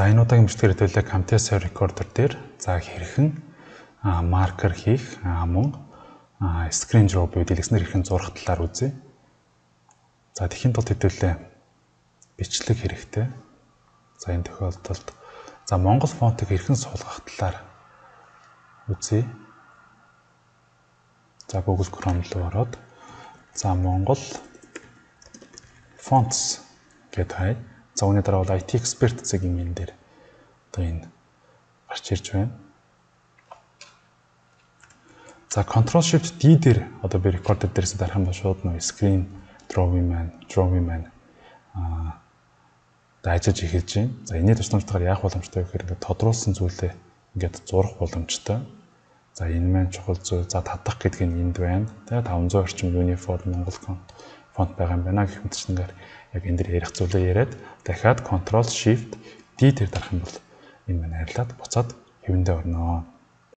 За энэ удаагийн бичлэгээр хэдүүлээ Camtasia Recorder дээр за хэрхэн маркер хийх мөн screen draw буюу дэлгэснээр хэрхэн зурах талаар үзье. За тэхийн тулд хэдүүлээ бичлэг хэрэгтэй. За энэ тохиолдолд за Монгол фонтыг хэрхэн суулгах талаар үзье. За Google Chrome руу ороод за Монгол fonts гэдэг хай. За үүний дараа бол IT expert цагийн энэ дээр одоо энэ гарч ирж байна. За Ctrl Shift D дээр одоо би recorder дээрээс дарах юм бол шууд нөө screen drawing man дайжиж эхэлж байна. За энэний тусламжтайгаар яах боломжтой вэ гэхээр ингээд тодруулсан зүйлээ ингээд зурах боломжтой. За энэ маань чухал зүйл. За татах гэдэг нь энд байна. Тэгээ 500 орчим uniform Монгол фонт байгаа юм байна гэх мэтчнээр яг энэ дээр ярих зүйлээ яриад дахиад Ctrl Shift D дээр дарах юм бол энэ маань арилаад буцаад хэвэндээ орно.